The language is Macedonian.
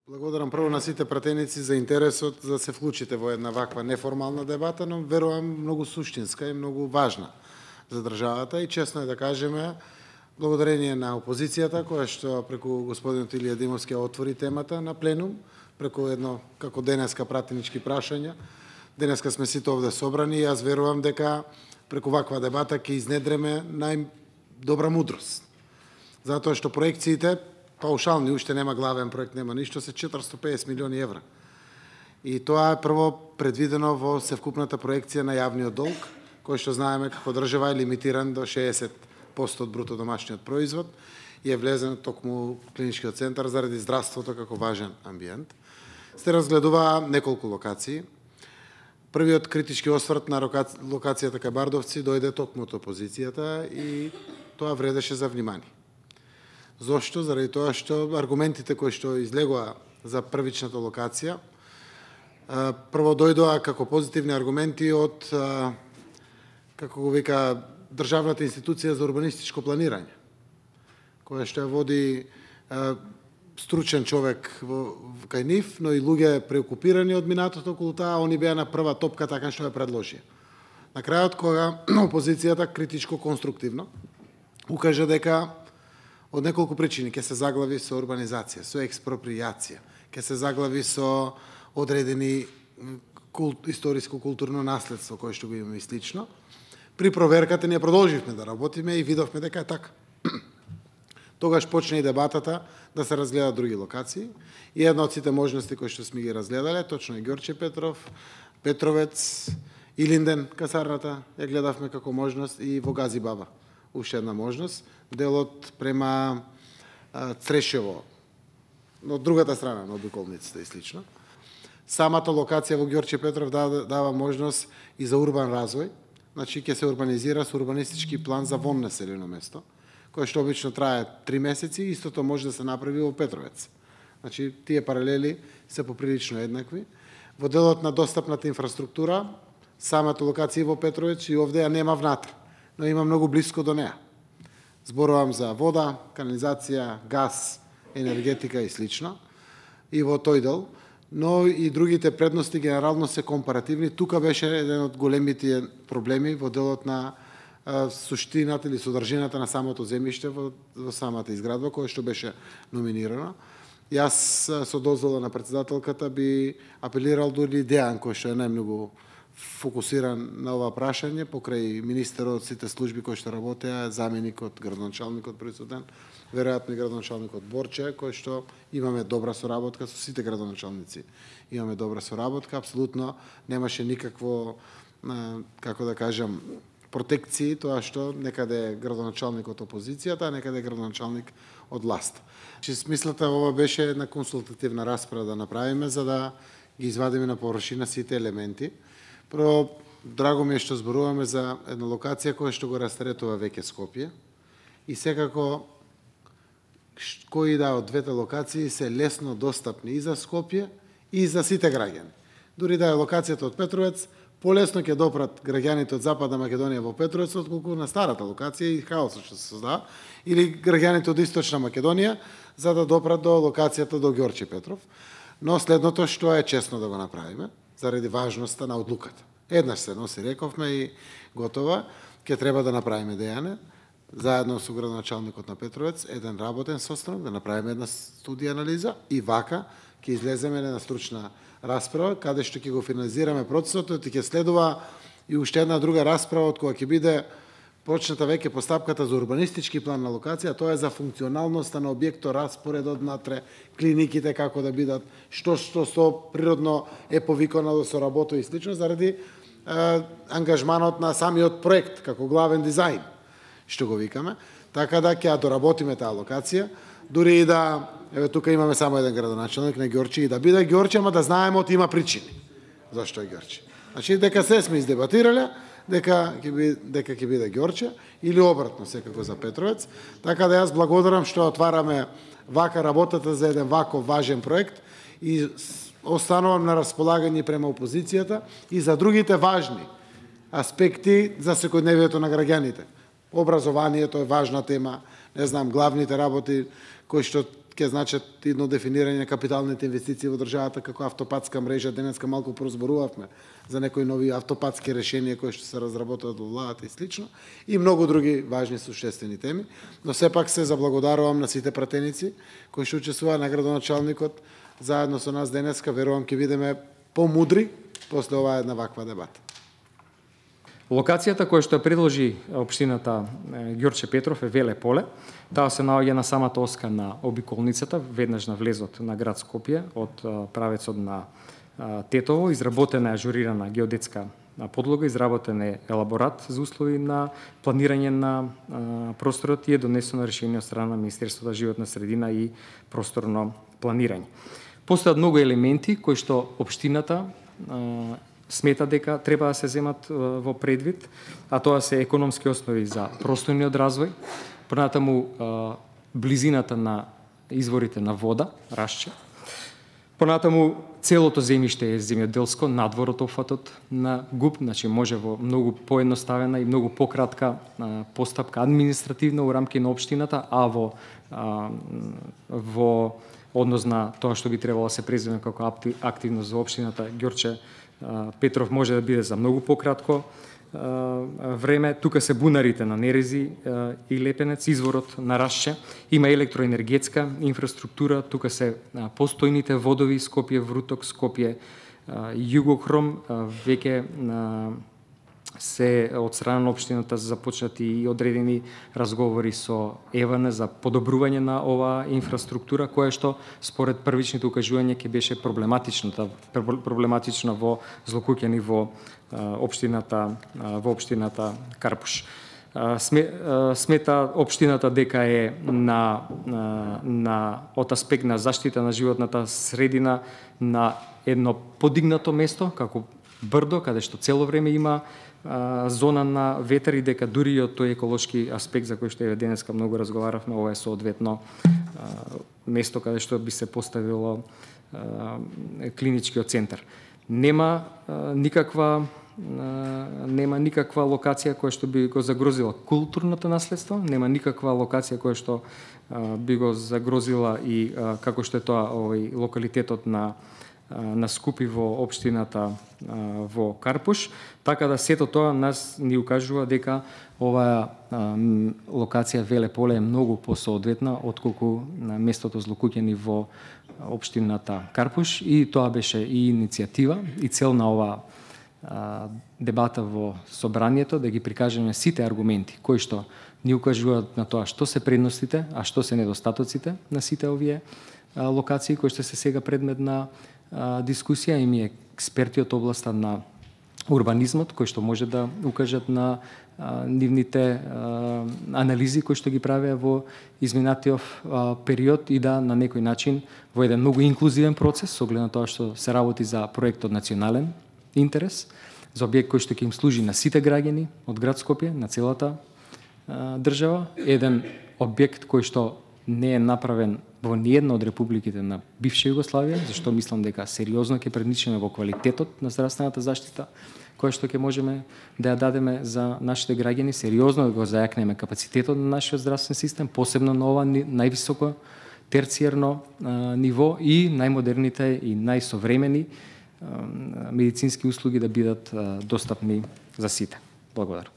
Благодарам прво на сите пратеници за интересот за да се вклучите во една ваква неформална дебата, но верувам многу суштинска и многу важна за државата и честно е да кажеме благодарение на опозицијата која што преку господинот Илија Димовски отвори темата на пленум, преку едно како денеска пратенички прашања. Денеска сме сите овде собрани и јас верувам дека преку ваква дебата ќе изнедреме најдобра мудрост. Затоа што проекциите паушални, уште нема главен проект, нема ништо, се 450 милиони евра. И тоа е прво предвидено во севкупната проекција на јавниот долг, кој што знаеме како држава е лимитиран до 60% од бруто домашниот производ и е влезен токму клиничкиот центар заради здравството како важен амбиент. Се разгледува неколку локации. Првиот критички осврт на локацијата кај Бардовци дојде токму од опозицијата и тоа вредеше за внимание. Зошто? Заради тоа што аргументите кои што излегоа за првичната локација прво дојдоа како позитивни аргументи од како го вика државната институција за урбанистичко планирање, која што ја води стручен човек кај нив, но и луѓе преокупирани од минатото околу таа, они беа на прва топка така што ја предложија. На крајот кога опозицијата критичко конструктивно укажа дека од неколку причини ќе се заглави со урбанизација, со експропријација, ќе се заглави со одредени историско-културно наследство кое што го имаме и слично. При проверката ние продолживме да работиме и видовме дека е така. Тогаш почна и дебатата да се разгледат други локации и една од сите можности кои што сме ги разгледале, точно е Ѓорче Петров, Петровец, Илинден, касарната, ја гледавме како можност и во Гази Баба. Уште една можност, делот према Црешево, од другата страна на обиколниците и слично. Самата локација во Ѓорче Петров дава можност и за урбан развој, значи ќе се урбанизира со урбанистички план за вон населено место, кој што обично трае 3 месеци, истото може да се направи во Петровец. Значи тие паралели се поприлично еднакви. Во делот на достапната инфраструктура, самата локација во Петровец и овде ја нема внатре, но има многу близко до неа. Зборувам за вода, канализација, газ, енергетика и слично, и во тој дел, но и другите предности генерално се компаративни. Тука беше еден од големите проблеми во делот на суштината или содржината на самото земјиште во самата изградба, која што беше номинирана. Јас со дозвола на претседателката би апелирал дури Дејан, кој што е најмногу фокусиран на ова прашање, покрај министерот, сите служби кои што работеа, заменикот, градоначалникот присутен, веројатно и градоначалникот Борче, кој што имаме добра соработка со сите градоначалници. Имаме добра соработка, апсолутно немаше никакво, како да кажам, протекции, тоа што некаде е градоначалник од опозицијата, а некаде е градоначалник од власт. Смислата ова беше една консултативна расправа да направиме, за да ги извадиме на површина сите елементи. Прво, драго ми е што зборуваме за една локација која што го растретува веќе Скопје и секако кои да од двете локации се лесно достапни и за Скопје и за сите граѓани. Дури да е локацијата од Петровец, полесно ќе допрат граѓаните од Западна Македонија во Петровец отколку на старата локација и хаосот што се создава, или граѓаните од Источна Македонија за да допрат до локацијата до Ѓорче Петров. Но следното што е честно да го направиме, заради важноста на одлуката. Еднаш се носи, рековме и готова, ќе треба да направиме Дејане, заедно со градоначалникот на Петровец, еден работен состанок, да направиме една студија анализа и вака ќе излеземе една стручна расправа, каде што ќе го финализираме процесот, и ќе следува и уште една друга расправа, од која ќе биде почната веќе постапката за урбанистички план на локација, тоа е за функционалноста на објектот, распоредот внатре, клиниките како да бидат, што природно е повикано да се работи и слично, заради ангажманот на самиот проект, како главен дизајн, што го викаме. Така да ќе доработиме таа локација, дури и да, еве тука имаме само еден градоначалник на Ѓорче, и да биде Ѓорче, ама да знаеме од има причини. Зашто е Ѓорче? Значи, дека се сме издебатирале, дека ќе биде Ѓорче, или обратно секако за Петровец. Така да јас благодарам што отвараме вака работата за еден ваков важен проект и останувам на располагање према опозицијата и за другите важни аспекти за секојдневието на граѓаните. Образованието е важна тема, не знам, главните работи кои што ќе значат едно дефинирање на капиталните инвестиции во државата како автопатска мрежа. Денеска малку прозборувавме за некои нови автопатски решенија кои што се разработуваат во владата и слично, и многу други важни суштествени теми, но сепак се заблагодарувам на сите пратеници кои што учествуваа, на градоначалникот заедно со нас денеска. Верувам ќе бидеме помудри после оваа една ваква дебата. Локацијата која што ја предложи општината Ѓорче Петров е Веле поле. Таа се наоѓа на самата оска на обиколницата, веднаш на влезот на град Скопје, од правецот на Тетово. Изработена е ажурирана геодетска подлога, изработен е елаборат за услови на планирање на просторот и е донесено решение од страна на Министерството за животна средина и просторно планирање. Постојат многу елементи кои што општината смета дека треба да се земат во предвид, а тоа се економски основи за просторниот развој, понатаму близината на изворите на вода, Рашче, понатаму целото земјиште е земјоделско, надвор од опфатот на ГУП, значи може во многу поедноставена и многу пократка постапка административна у рамки на општината, а во однос на тоа што би требало да се преземе како активност за општината Ѓорче Петров може да биде за многу пократко време. Тука се бунарите на Нерези и Лепенец, изворот на Рашче. Има електроенергетска инфраструктура, тука се постојните водови Скопје Вруток, Скопје Југохром. Веќе се од страна на општината започнати и одредени разговори со ЕВН за подобрување на оваа инфраструктура, која што според првичните укажувања ќе беше проблематична во злокуќени во општината Карпуш. Смета општината дека е од аспект на заштита на животната средина на едно подигнато место, како Брдо, каде што цело време има зона на ветер и дека дури и од тој еколошки аспект за кој што денеска многу разговаравме, ова е соодветно место каде што би се поставило клиничкиот центар. Нема никаква локација која што би го загрозила културното наследство, нема никаква локација која што би го загрозила и како што е тоа локалитетот на Скупи во општината во Карпуш, така да сето тоа нас ни укажува дека оваа локација Веле поле е многу посоодветна отколку на местото злокуќени во општината Карпуш, и тоа беше и иницијатива и цел на оваа дебата во собранието, да ги прикажеме сите аргументи кои што ни укажуваат на тоа што се предностите, а што се недостатоците на сите овие локации кои што се сега предмет на дискусија. И ми експерти од областа на урбанизмот кои што може да укажат на нивните анализи кои што ги правеа во изминатиот период и да на некој начин во еден многу инклузивен процес, со оглед на тоа што се работи за проект од национален интерес, за објект кој што ќе им служи на сите граѓани од град Скопје, на целата држава, еден објект кој што не е направен во ниедна од републиките на бивша Југославија, зашто мислам дека сериозно ќе предничиме во квалитетот на здравствената заштита која што ќе можеме да ја дадеме за нашите граѓани, сериозно да го зајакнеме капацитетот на нашиот здравствен систем, посебно на ова највисоко терцијерно ниво и најмодерните и најсовремени медицински услуги да бидат достапни за сите. Благодарам.